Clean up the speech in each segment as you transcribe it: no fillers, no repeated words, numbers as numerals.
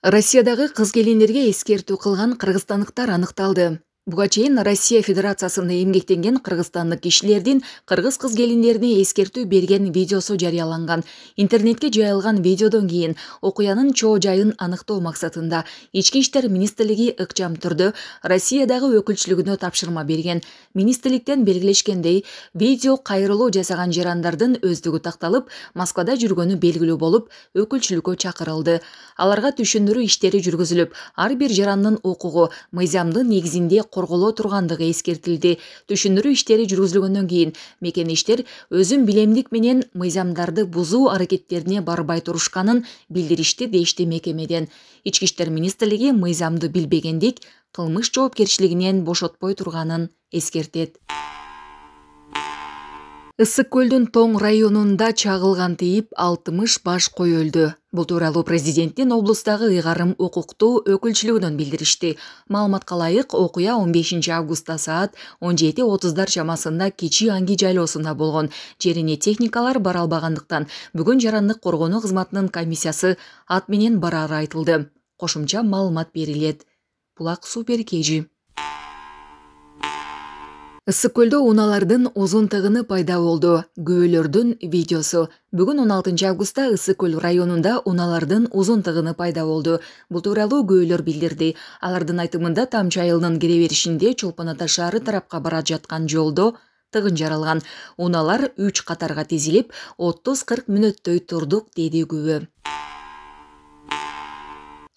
Россиядагы кыз келиндерге эскертүү кылган кыргызстандыктар аныкталды. Буга чейин Россия Федерациясында эмгектенген кыргызстандык кишилердин кыргыз кыз келиндерине эскертүү берген видеосу жарыяланган. Интернетке жайылган видеодон кийин окуянын чоо жайын аныктоо максатында Ички иштер министрлиги ыкчам түрдө Россиядагы өкүлчүлүгүнө тапшырма берген. Министрликтен белгилешкендей, видео кайрылуу жасаган жарандардын өздүгү такталып, Москвада жүргөнү белгилүү болуп, өкүлчүлүккө чакырылды. Аларга түшүндүрүү иштери жүргүзүлүп, ар бир жарандын укугу мыйзамдын негизинде корголо тургандыгы эскертилди. Түшүндүрүү иштери жүргүзүлгөндөн кийин мекенештер өзүн билемдик менен мыйзамдарды бузуу аракеттерине барбай турушканын билдиришти, дешти мекемеден. Ички иштер министрлиги мыйзамды билбегендик кылмыш жоопкерчилигинен бошотпой турганын эскертет. Ысык көлдүн Тоң районунда чагылган тийип 60 баш кой өлдү. Бул тууралуу президенттин облустагы ыйгарым укуктуу өкүлчүлүгүнөн билдиришти. Маалыматка ылайык, окуя 15 августта саат 17:30 чамасында Кичи Анги жайлоосунда болгон. Жерине техникалар бара албагандыктан бүгүн жарандык коргонуу кызматынын комиссиясы ат менен барары айтылды. Кошумча маалымат берилет. Булак Супер KG. Ысык көлдө унаалардын узун тыгыны пайда болду. Күбөлөрдүн видеосу. Бүгүн 16 августта Ысык көл районунда унаалардын узун тыгыны пайда болду. Бул тууралуу күбөлөр билдирди. Алардын айтымында Тамчы айылынын кире беришинде Чолпон Ата шаары тарапка бара жаткан жолдо тыгын жаралган. Унаалар 3 катарга тизилип, 30-40 мүнөттөй турдук, деди күбө.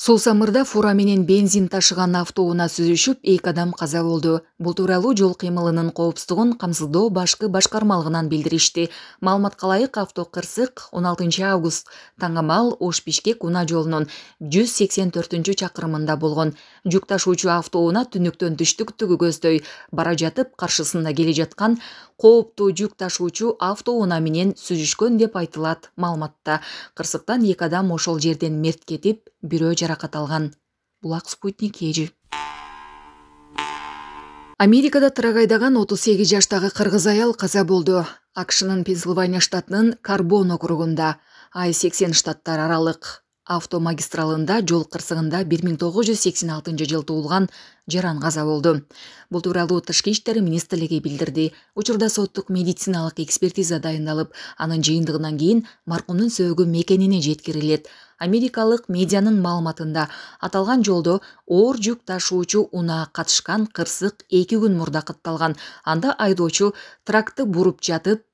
Сулсамырда фура менен бензин ташыган автоунаа сүзүшүп, 2 адам каза болду. Бул тууралуу жол кыймылынын коопсуздугун камсыздоо башкы башкармалыгынан билдиришти. Маалыматка ылайык, авто кырсык 16 август таңамал Ош-Бишкек унаа жолунун 184-чакырымында болгон. Жүк ташуучу автоунаа түнүктөн түштүктүгү көздөй бара жатып, каршысында келе жаткан кооптуу жүк ташуучу автоунаа менен сүзүшкөн деп айтылат маалыматта. Кырсыктан 2 адам ошол жерден мерт кетип, бирөө жаракат алган. Булак Спутник KG. Америкада тырак айдаган 38 жаштагы кыргыз аял каза болду. АКШнын Пенсильвания штатынын Карбон округунда I-80 штаттар аралык автомагистралында жол кырсыгында 1986 жылы туулган жаран каза болду. Бул тууралуу Тышкы иштер министрлиги билдирди. Учурда соттук медициналык экспертиза дайындалып, анын жыйынтыгынан кийин маркумдун сөөгү мекенине жеткирилет. Америкалык медианын маалыматында аталган жолдо оор жүк ташуучу унаа катышкан кырсык 2 күн мурда катталган. Анда айдоочу тракты буруп жатып,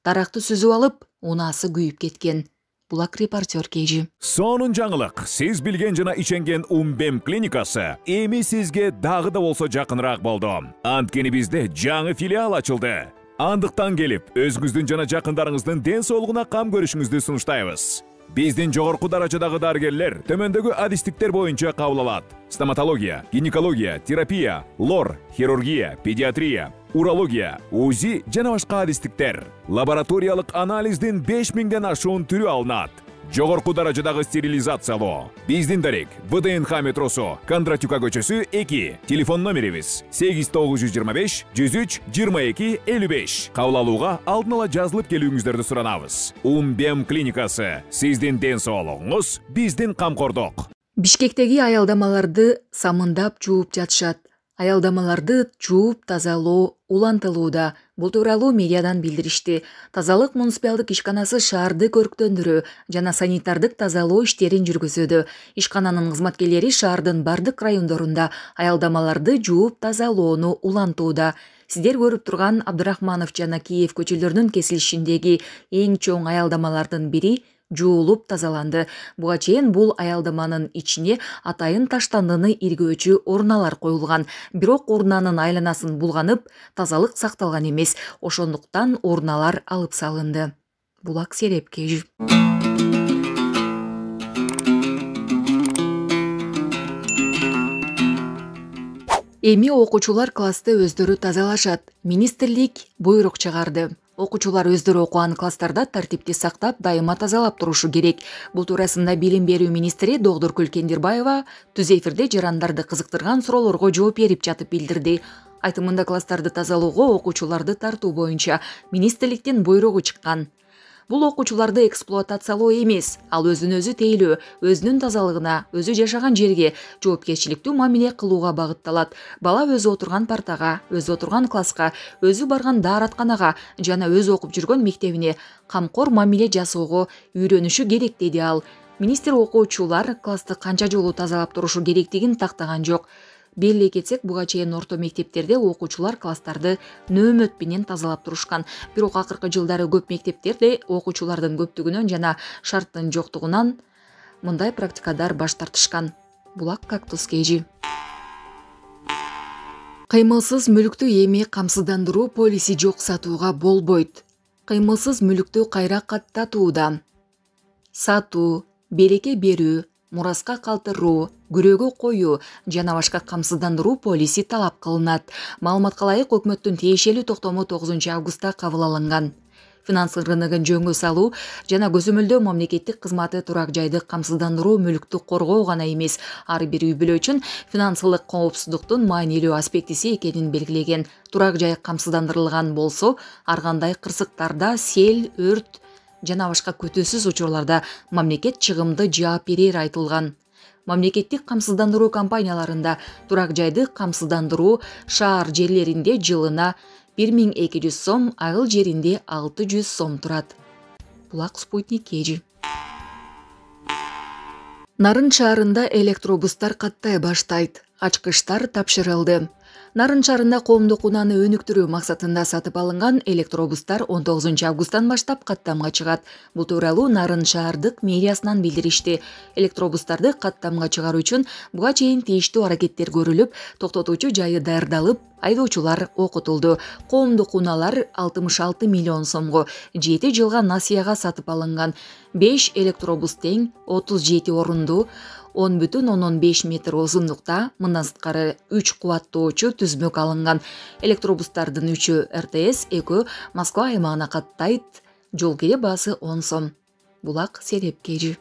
таракты сүзүп алып, унаасы күйүп кеткен. Булак Репортер KG. Сонун жаңылык. Сиз билген жана иченген Умбем клиникасы эми сизге дагы да болсо жакыныраак болду. Анткени бизде жаңы филиал ачылды. Андыктан келип, өзүңүздүн жана жакындарыңыздын ден соолугуна кам көрүшүңүздү сунуштайбыз. Биздин жогорку даражадагы дарыгерлер төмөндөгү адистиктер боюнча кабыл алат. Стоматология, гинекология, терапия, лор, хирургия, педиатрия, урология, УЗИ жана башка адистиктер. Лабораториялык анализдин 5000ден ашуун түрү алынат. Жогорку даражадагы стерилизациялоо. Биздин дарек ВДНХ метросу, Кондратюка көчөсү 2. Телефон номерибиз 8925 103 22 55. Кабыл алууга алдын ала жазылып келүүңүздөрдү суранабыз. Умбем клиникасы. Сиздин ден соолугуңуз, биздин камкордук. Бишкектеги аялдамаларды самындап жууп жатышат. Аялдамаларды жууп тазалоо улантылууда. Бул тууралуу медиадан билдиришти. Тазалык муниципалдык ишканасы шаарды көрктөндүрүү жана санитардык тазалоо иштерин жүргүзүүдө. Ишкананын кызматкерлери шаардын бардык райондорунда аялдамаларды жууп тазалоону улантууда. Сиздер көрүп турган Абдрахманов жана Киев көчөлөрүнүн кесилишиндеги эң чоң аялдамалардын бири жуулуп тазаланды. Буга чейин бул аялдаманын ичине атайын таштандыны иргөөчү урналар коюлган. Бирок урнанын айланасын булганып, тазалык сакталган эмес. Ошондуктан урналар алып салынды. Булак Сереп KG. Эми окуучулар классты өздөрү тазалашат. Министрлик буйрук чыгарды. Окуучулар өздөрү окуган класстарда тартипти сактап, дайыма тазалап турушу керек. Бул туурасында билим берүү министри Догдуркүл Кендирбаева түз эфирде жарандарды кызыктырган суроолорго жооп берип жатып билдирди. Айтымында класстарды тазалоого окуучуларды тартуу боюнча министрликтин буйругу чыккан. Бул окуучуларды эксплуатациялоо эмес, ал өзүн өзү тейлөө, өзүнүн тазалыгына, өзү жашаган жерге жоопкерчиликтүү мамиле кылууга багытталат. Бала өзү отурган партага, өзү отурган класска, өзү барган дааратканага жана өзү окуп жүргөн мектебине камкор мамиле жасоого үйрөнүшү керек, деди ал. Министр окуучулар классты канча жолу тазалап турушу керектигин тактаган жок. Белгилей кетсек, буга чейин орто мектептерде окуучулар класстарды нөөмөт менен тазалап турушкан. Бирок акыркы жылдары көп мектептерде окуучулардын көптүгүнөн жана шарттын жоктугунан мындай практикадар баш тартышкан. Булак Кактус KG. Кыймылсыз мүлүктү эми камсыздандыруу полиси жок сатууга болбойт. Кыймылсыз мүлүктү кайра каттатууда сатуу, береке берүү, мураска калтыруу, күрөөгө коюу жана башка камсыздандыруу полиси талап кылынат. Маалыматка ылайык, өкмөттүн тиешелүү токтому 9 августта кабыл алынган. Финансы рыногун жөнгө салуу жана көзөмөлдөө мамлекеттик кызматы турак жайды камсыздандыруу мүлүктү коргоо гана эмес, ар бир үй бүлө үчүн финансылык коопсуздуктун маанилүү аспектиси экенин белгилеген. Турак жай камсыздандырылган болсо, ар кандай кырсыктарда, сел, өрт жана башка күтүүсүз учурларда мамлекет чыгымды жаап берери айтылган. Мамлекеттик камсыздандыруу компанияларында турак жайды камсыздандыруу шаар жерлеринде жылына 1200 сом, айыл жеринде 600 сом турат. Булак Спутник KG. Нарын шаарында электробустар каттай баштайт. Ачкычтар тапшырылды. Нарын шаарында коомдук унааны өнүктүрүү максатында сатып алынган электробустар 19 августтан баштап каттамга чыгат. Бул тууралуу Нарын шаардык мэриясынан билдиришти. Электробустарды каттамга чыгаруу үчүн буга чейин тийиштүү аракеттер көрүлүп, токтотуучу жайы даярдалып, айдоочулар окутулду. Коомдук унаалар 66 миллион сомго 7 жылга насыяга сатып алынган. 5 электробус тең 37 орундуу 10,5 метр узундукта, мындан сырткары 3 кубаттоочу түзмөк алынган. Электробустардын 3-ü РТС, 2 Москва аймагына каттайт. Жол кире баасы 10 сом. Булак Сереп KG.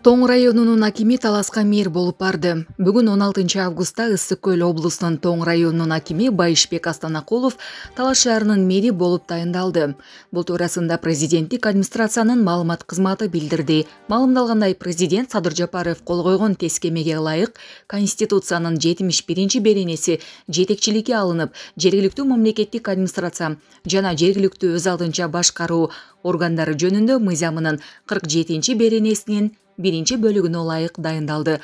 Тоң районунун акими таласка мэр болуп барды. Бүгүн 16 августта Ысык Көл облусунун Тоң районунун акими Байышбек Астанакулов Талас шаарынын мэри болуп тайындалды. Бул туурасында президенттик администрациянын маалымат кызматы билдирди. Маалымдалгандай, президент Садыр Жапаров кол койгон тескемеге ылайык Конституциянын 71-беренеси жетекчиликке алынып, жергиликтүү мамлекеттик администрация жана жергиликтүү өз алдынча башкаруу органдары жөнүндө мыйзамынын 47-беренесинин 1-бөлүгүнө ылайык дайындалды.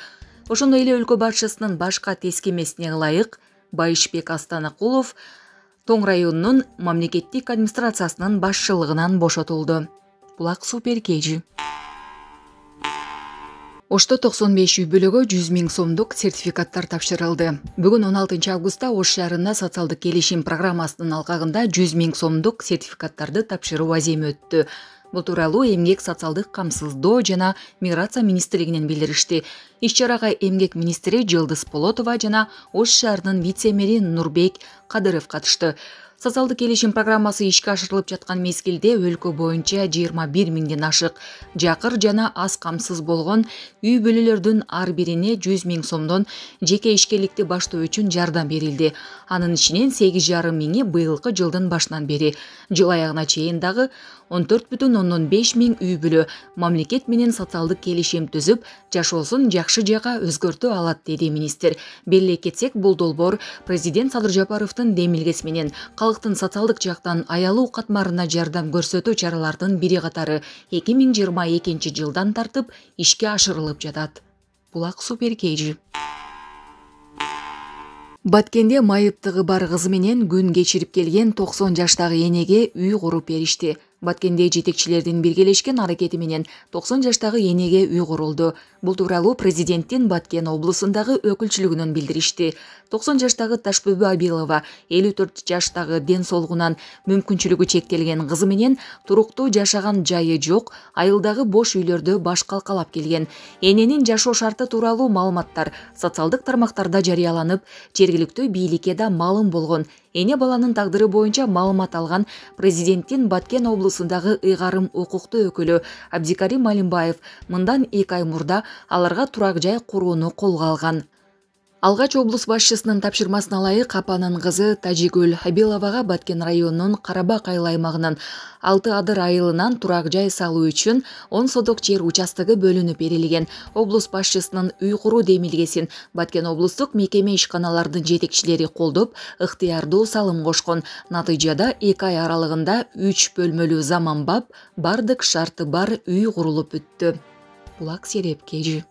Ошондой эле өлкө башчысынын башка тескемесине ылайык Байышбек Астанакулов Тоң районунун мамлекеттик администрациясынын башчылыгынан бошотулду. Булак Супер KG. Ошто 95 үй бүлөгө 100 000 сомдук сертификаттар тапшырылды. Бүгүн 16 августта Ош шаарында социалдык келишим программасынын алкагында 100 000 сомдук сертификаттарды тапшыруу аземи өттү. Бул тууралуу Эмгек социалдык камсыздоо жана миграция министрлигинен билдиришти. Иш-чарага Эмгек министри Жылдыз Полотова жана Ош шаарынын вице-мэри Нурбек Кадыров катышты. Социалдык келишим программасы ишке ашырылып жаткан мезгилде өлкө боюнча 21 000ден ашык жакыр жана аз камсыз болгон үй бүлөлөрдүн ар бирине 100 000 сомдон жеке ишкерликти баштоо үчүн жардам берилди. Анын ичинен 8,5 миңи быйылкы жылдын башынан бери. Жыл аягына чейин дагы 14,5 миң үй бүлө мамлекет менен социалдык келишим түзүп, жашоосун жакшы жакка өзгөртө алат, деди министр. Белгилей кетсек, бул долбоор президент Садыр Жапаровдун демилгеси менен калктын социалдык жактан аялуу катмарына жардам көрсөтүү чаралардын бири катары 2022 жылдан тартып ишке ашырылып жатат. Булак Супер KG. Баткенде майыптыгы бар кызы менен күн кечирип келген 90 жаштагы энеге үй куруп беришти. Баткенде жетекчилердин биргелешкен аракети менен 90 жаштагы энеге үй курулду. Бул тууралуу президенттин Баткен облусундагы өкүлчүлүгүнөн билдиришти. 90 жаштагы Ташбүбү Абилова 54 жаштагы ден соолугунан мүмкүнчүлүгү чектелген кызы менен туруктуу жашаган жайы жок айылдагы бош үйлөрдө баш калкалап келген. Эненин жашоо шарты тууралуу маалыматтар социалдык тармактарда жарыяланып, жергиликтүү бийликке да маалым болгон. Эне баланын тагдыры боюнча маалымат алган президенттин Баткен облусундагы ыйгарым укуктуу өкүлү Абдикарим Алимбаев мындан 2 ай мурда аларга турак жай курууну колго алган. Алгач облус башчысынын тапшырмасына ылайык апанын кызы Тажигүл Абиловага Баткен районунун Карабак айыл аймагынын 6 адыр айылынан турак жай салуу үчүн 10 соток жер участогу бөлүнүп берилген. Облус башчысынын үй куруу демилгесин Баткен облустук мекеме ишканалардын жетекчилери колдоп, ыктыярдуу салым кошкон. Натыйжада 2 ай аралыгында 3 бөлмөлүү заманбап, бардык шарты бар үй курулуп бүттү. Булак Серепкежи.